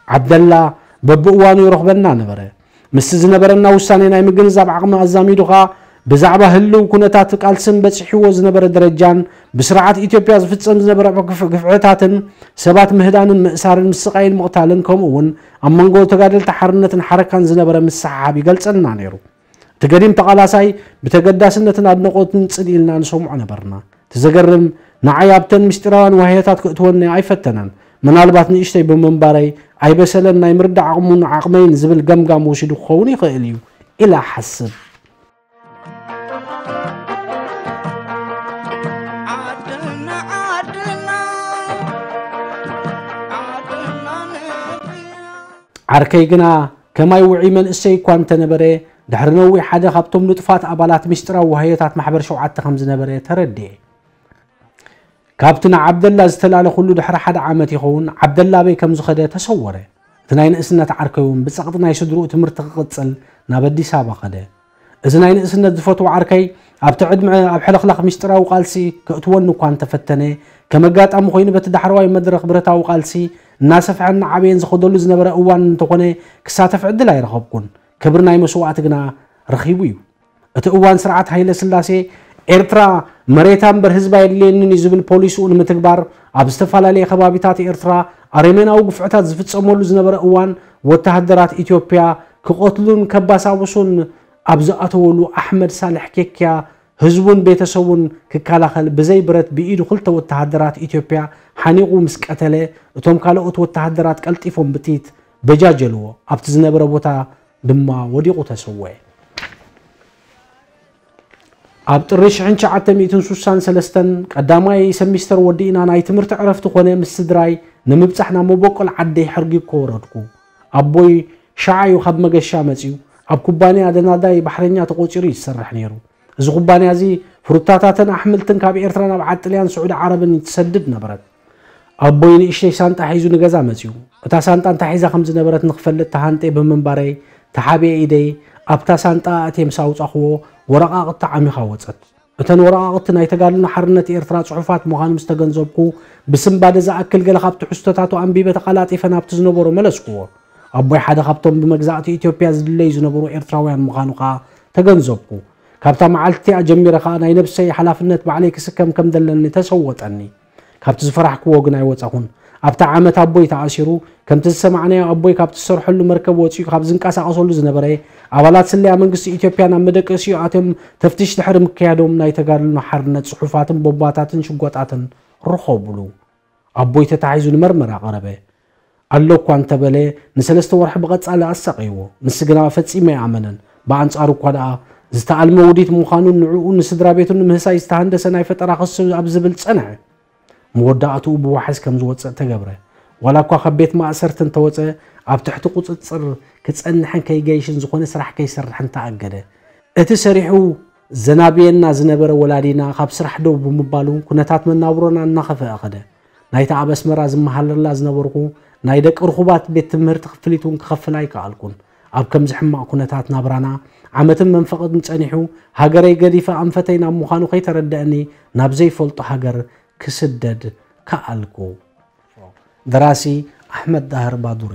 ዓብደላ በብእዋኑ ይረኽበና ነበረ። ምስቲ ዝነበረና ውሳኔ ናይ ምግንዛብ ዓቕሚ ኣዛሚዱ ኸኣ፣ ብዛዕባ ህልው ኩነታት ቃልስን በጺሕዎ ዝነበረ ደረጃን፣ ብስርዓት ኢትዮጵያ ዝፍጸም ዝነበረ ግፍ-፣ ግፍዕታትን፣ ሰባት ምህዳንን ምእሳርን ምስቓይን ምቕታልን፣ ከምኡ እውን ኣብ መንጎ ተጋደልቲ ሓርነትን ሓረካን ዝነበረ ምስሕሓብ ይገልጸልና ነይሩ። እቲ ገዲም ተቓላሳይ ብተገዳስነትን ኣድነቖትን ጽን ኢልና ንሰምዖ ነበርና። እቲ ዘገርም፣ ንዓይ ኣብተን ምስጢራውያን ዋህዮታት ክእትወኒ ኣይፈተነን። ምናልባት ንእሽተይ ብምንባረይ ኣይበሰለን፣ ናይ ምርዳእ ዓቕሙን ዓቕመይን ዝብል ገምጋም ወሲዱ ክኸውን ይኽእል እዩ ኢለ እሓስብ። ዓርከይ ግና ከማይ ውዑይ መንእሰይ እኳ እንተነበረ፣ ድሕሪ ነዊሕ ሓደ ካብቶም ንጡፋት ኣባላት ምስጢራዊ ዋህዮታት ማሕበር ሸውዓተ ከም ዝነበረ ተረድኤ። ካብቲ ንዓብደላ ዝተላለኹሉ ድሕሪ ሓደ ዓመት ይኸውን፣ ዓብደላ ኣበይ ከም ዝኸደ ተሰወረ። እቲ ናይ ንእስነት ዓርከይ እውን ብጸቕጢ ናይ ስድርኡ ትምህርቲ ክቕጽል ናብ ኣዲስ ኣበባ ኸደ። እዚ ናይ ንእስነት ዝፈትዎ ዓርከይ ኣብቲ ዕድመ ኣብ ሕልኽላኽ ምስጢራዊ ቃልሲ ከእትወኒ እኳ እንተፈተነ፣ ከም ኣጋጣሚ ኮይኑ በቲ ዳሕረዋይ መድረኽ ብረታዊ ቃልሲ እናሰፍሐን እናዓበየን ዝኸደሉ ዝነበረ እዋን እንተኾነ ክሳተፍ ዕድል ኣይረኸብኩን። ክብሪ ናይ መስዋእቲ ግና ረኺቡ እዩ። እቲ እዋን ስርዓት ሃይለ ስላሴ ኤርትራ መሬታ እምበር ህዝባ የድልየንን እዩ ዝብል ፖሊሲኡ ንምትግባር ኣብ ዝተፈላለየ ከባቢታት ኤርትራ ኣረሜናዊ ግፍዕታት ዝፍጸመሉ ዝነበረ እዋን ወተሃደራት ኢትዮጵያ ክቐትሉን ከባሳብሱን ኣብ ዝኣተወሉ ኣሕመድ ሳልሕ ኬክያ ህዝቡን ቤተሰቡን ክከላኸል ብዘይ ብረት ብኢዱ ክልተ ወተሃደራት ኢትዮጵያ ሓኒቑ ምስ ቀተለ እቶም ካልኦት ወተሃደራት ቀልጢፎም ብጥይት በጃጀልዎ ኣብቲ ዝነበረ ቦታ ድማ ወዲቑ ተሰወየ። ኣብ ጥሪ ሽሕን ትሽዓተ ሚእትን ስሳን ሰለስተን ቀዳማይ ሰሚስተር ወዲእና ናይ ትምህርቲ ዕረፍቲ ኮነ ምስ ስድራይ ንምብጻሕ ናብ መበቆል ዓደይ ሕርጊኮ ወረድኩ። ኣቦይ ሸዓ እዩ ካብ መገሻ መጺኡ ኣብ ኩባንያ ደናዳይ ባሕረኛ ተቖጺሩ እዩ ዝሰርሕ ነይሩ። እዚ ኩባንያ እዚ ፍሩታታትን ኣሕምልትን ካብ ኤርትራ ናብ ዓጥልያን ስዑዲ ዓረብን ትሰድድ ነበረት። ኣቦይ ንእሽተይ ሳንጣ ሒዙ ንገዛ መጺኡ። እታ ሳንጣ እንታይ ሒዛ ከም ዝነበረት ንክፈልጥ ተሃንጤ ብምንባረይ ተሓቢኤ ኢደይ ኣብታ ሳንጣ ኣእትየ ምስ ኣውጻኽዎ ወረቓቕቲ ዓሚኻ ወጸት። እተን ወረቓቕቲ ናይ ተጋድሎ ሓርነት ኤርትራ ጽሑፋት ምዃኑ ምስ ተገንዘብኩ ብስንባደ ዝኣክል ገለ ካብ ትሕዝቶታቱ ኣንቢበ ተቐላጢፈ ናብቲ ዝነበሮ መለስክዎ። ኣቦይ ሓደ ካብቶም ብመግዛእቲ ኢትዮጵያ ዝድለዩ ዝነበሩ ኤርትራውያን ምዃኑ ከኣ ተገንዘብኩ። ካብታ መዓልቲ እቲኣ ጀሚረ ከኣ ናይ ነብሰይ ሓላፍነት ባዕለይ ክስከም ከም ዘለኒ ተሰወጠኒ። ካብቲ ዝፈራሕክዎ ግን ኣይወጻኹን። ኣብታ ዓመት ኣቦይ ተኣሲሩ፣ ከምቲ ዝሰማዕናዮ ኣቦይ ካብቲ ዝሰርሐሉ መርከብ ወጺኡ ካብ ዝንቀሳቐሰሉ ዝነበረ፣ ኣባላት ስለያ መንግስቲ ኢትዮጵያ ናብ መደቀሲኡ ኣትዮም ተፍትሽ ድሕሪ ምክያዶም ናይ ተጋድሎ ሓርነት ጽሑፋትን ቦምባታትን ሽጎጣትን ረኸቡሉ። ኣቦይ ተታሒዙ ንመርመራ ቀረበ። ኣሎ እኳ እንተበለ ንሰለስተ ወርሒ ብቐጻሊ ኣሳቐይዎ። ንሱ ግና ፈጺሙ ኣይኣመነን። ብኣንጻሩ እኳ ደኣ ዝተኣልመ ውዲት ምዃኑን ንዕኡ ንስድራ ቤቱን ንምህሳይ ዝተሃንደሰ ናይ ፈጠራ ክሲ ኣብ ዝብል ጸንዐ። መወዳእትኡ ብዋሕስ ከም ዝወጽእ ተገብረ። ዋላ እኳ ካብ ቤት ማእሰርቲ እንተወጸ ኣብ ትሕቲ ቁጽጽር ክጸንሕን ከይገይሽን ዝኾነ ስራሕ ከይሰርሕን ተኣገደ። እቲ ሰሪሑ ዘናብየና ዝነበረ ወላዲና ካብ ስራሕ ደው ብምባሉ ኩነታት መናብሮና እናኸፍአ ኸደ። ናይታ ኣብ ኣስመራ ዝመሃለላ ዝነበርኩ ናይ ደቂ ርኹባት ቤት ትምህርቲ ክፍሊት እውን ክኸፍል ኣይከኣልኩን። ኣብ ከምዚ ሕማቕ ኩነታት ናብራና ዓመትን መንፈቕን ጸኒሑ ሃገረይ ገዲፈ ኣንፈተይ ናብ ምዃኑ ከይተረደአኒ ናብ ዘይፈልጦ ሃገር ክስደድ ከኣልኩ። ደራሲ ኣሕመድ ዳህር ባዱሪ።